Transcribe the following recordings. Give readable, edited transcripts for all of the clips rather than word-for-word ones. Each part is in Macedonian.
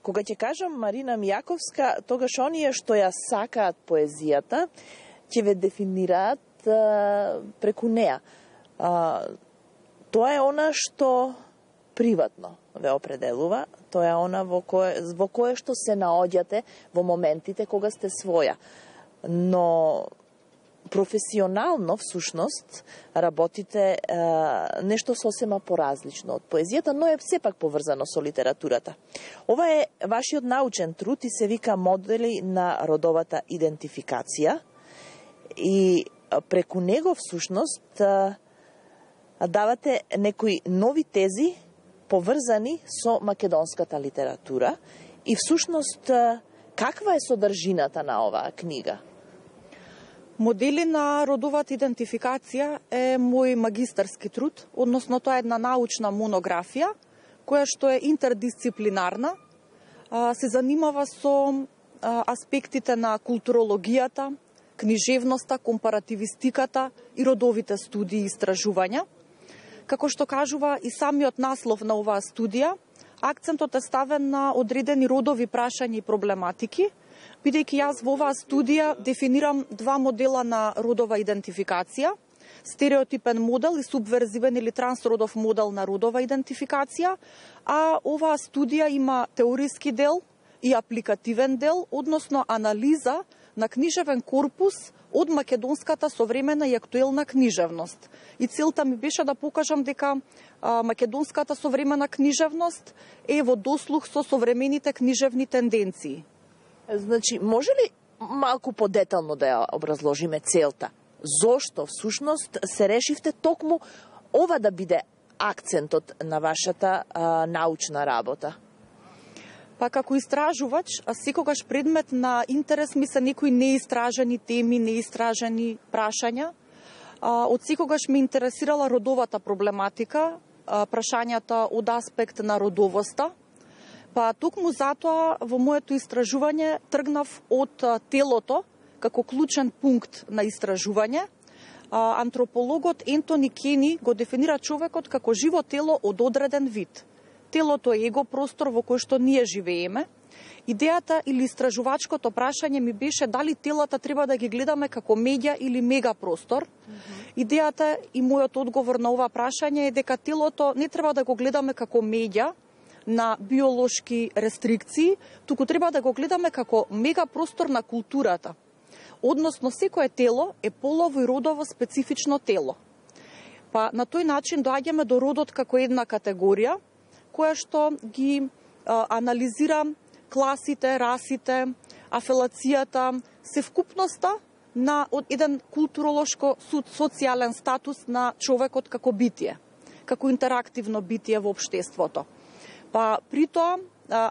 Кога ќе кажам Марина Мијаковска, тогаш оние што ја сакаат поезијата, ќе ве дефинираат преку неа. Тоа е она што приватно ве определува, тоа е она во кое што се наоѓате во моментите кога сте своја. Но професионално, всушност, работите нешто сосема поразлично од поезијата, но е сепак поврзано со литературата. Ова е вашиот научен труд и се вика Модели на родовата идентификација и преку него, всушност, давате некои нови тези поврзани со македонската литература и всушност каква е содржината на оваа книга? Модели на родовата идентификација е мој магистарски труд, односно тоа е една научна монографија која што е интердисциплинарна, се занимава со аспектите на културологијата, книжевноста, компаративистиката и родовите студии и истражувања. Како што кажува и самиот наслов на оваа студија, акцентот е ставен на одредени родови прашања и проблематики, бидејќи јас во оваа студија дефинирам два модела на родова идентификација, стереотипен модел и субверзивен или трансродов модел на родова идентификација, а оваа студија има теориски дел и апликативен дел, односно анализа на книжевен корпус од македонската современа и актуелна книжевност. И целта ми беше да покажам дека македонската современа книжевност е во дослух со современите книжевни тенденции. Значи, може ли малку подетално да ја образложиме целта? Зошто, всушност, се решивте токму ова да биде акцентот на вашата научна работа? Па како истражувач, секогаш предмет на интерес ми се некои неистражени теми, неистражени прашања. Од секогаш ме интересирала родовата проблематика, прашањата од аспект на родовоста. Па токму затоа во моето истражување тргнав од телото како клучен пункт на истражување. Антропологот Ентони Кени го дефинира човекот како живо тело од одреден вид. Телото е его простор во кој што ние живееме. Идејата или истражувачкото прашање ми беше дали телата треба да ги гледаме како медја или мегапростор. Идејата и мојот одговор на ова прашање е дека телото не треба да го гледаме како медја на биолошки рестрикции, туку треба да го гледаме како мегапростор на културата. Односно, секое тело е полово и родово специфично тело. Па на тој начин доаѓаме до родот како една категорија, која што ги анализира класите, расите, афелацијата, севкупноста на еден културолошко социјален статус на човекот како битие, како интерактивно битие во општеството. Па при тоа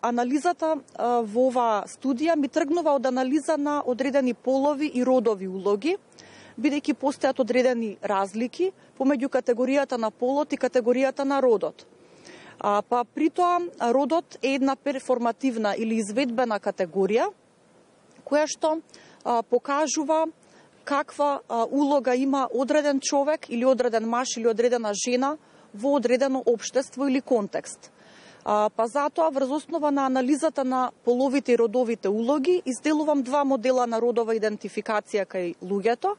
анализата во оваа студија ми тргнува од анализа на одредени полови и родови улоги, бидејќи постојат одредени разлики помеѓу категоријата на полот и категоријата на родот. Па при тоа родот е една перформативна или изведбена категорија која што покажува каква улога има одреден човек или одреден маж или одредена жена во одредено општество или контекст. Па затоа, врз основа на анализата на половите и родовите улоги, изделувам два модела на родова идентификација кај луѓето.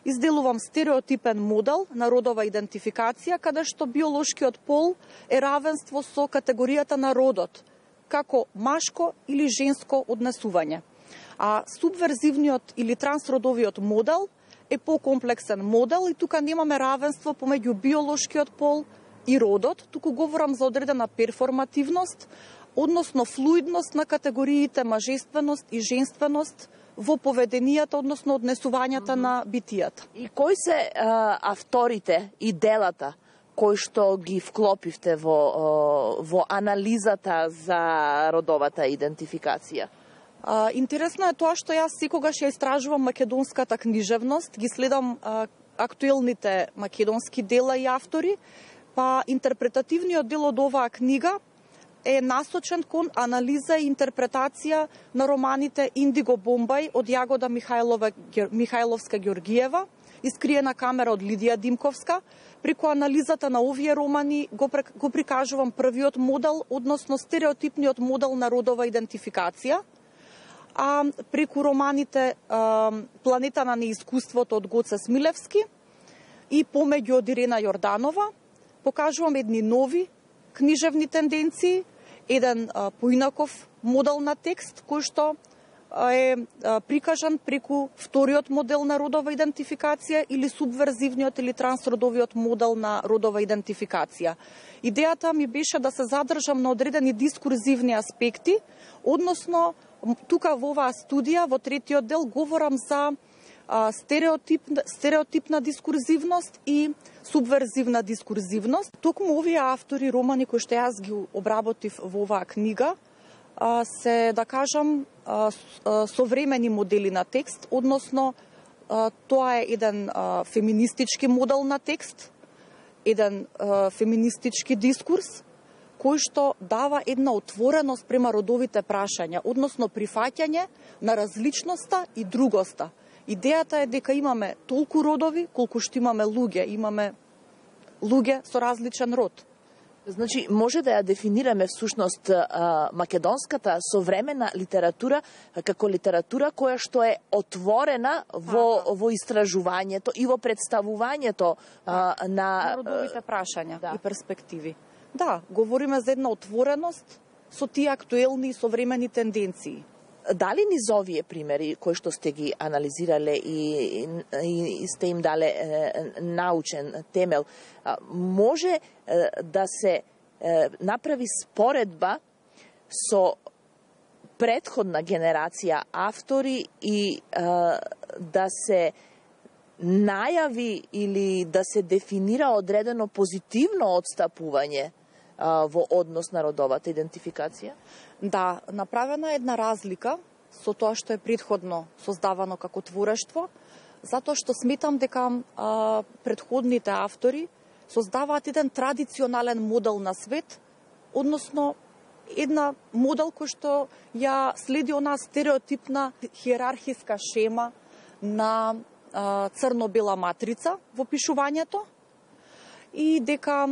Изделувам стереотипен модел на родова идентификација, каде што биолошкиот пол е равенство со категоријата на родот, како машко или женско однесување. А субверзивниот или трансродовиот модел е покомплексен модел и тука немаме равенство помеѓу биолошкиот пол и родот, туку говорам за одредена перформативност, односно флуидност на категориите мажественост и женственост во поведенијата, односно однесувањата на битијата. И кои се авторите и делата кои што ги вклопивте во анализата за родовата идентификација? Интересно е тоа што јас секогаш ја истражувам македонската книжевност, ги следам актуелните македонски дела и автори, па интерпретативниот дел од оваа книга е насочен кон анализа и интерпретација на романите Индиго Бомбај од Јагода Михајловска Ѓоргиева Искриена камера од Лидија Димковска. Преку анализата на овие романи го прикажувам првиот модел, односно стереотипниот модел на родова идентификација. А преку романите Планета на неискуството од Гоце Смилевски и Помеѓу од Ирена Јорданова покажувам едни нови книжевни тенденции, еден поинаков модел на текст кој што е прикажан преку вториот модел на родова идентификација или субверзивниот или трансродовиот модел на родова идентификација. Идејата ми беше да се задржам на одредени дискурзивни аспекти, односно тука во оваа студија, во третиот дел, говорам за стереотипна дискурзивност и субверзивна дискурзивност. Токму овие автори романи кои што јас ги обработив во оваа книга се, да кажам, современи модели на текст, односно тоа е еден феминистички модел на текст, еден феминистички дискурс, кој што дава една отвореност према родовите прашања, односно прифаќање на различноста и другоста. Идејата е дека имаме толку родови колку што имаме луѓе со различен род. Значи, може да ја дефинираме всушност македонската современа литература како литература која што е отворена во истражувањето и во представувањето на родовите прашања и перспективи. Да, говориме за една отвореност со тие актуелни и современи тенденции. Дали низ овие примери кои што сте ги анализирале и сте им дале научен темел, може да се направи споредба со претходна генерација автори и да се најави или да се дефинира одредено позитивно одстапување во однос на родовата идентификација? Да, направена е една разлика со тоа што е претходно создавано како творештво, затоа што сметам дека претходните автори создаваат еден традиционален модел на свет, односно една модел кој што ја следи онаа стереотипна хиерархиска шема на црно-бела матрица во пишувањето, и дека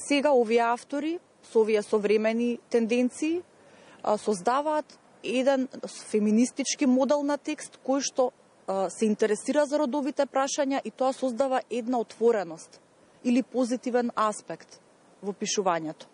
сега овие автори со овие современи тенденции создаваат еден феминистички модел на текст кој што се интересира за родовите прашања и тоа создава една отвореност или позитивен аспект во пишувањето.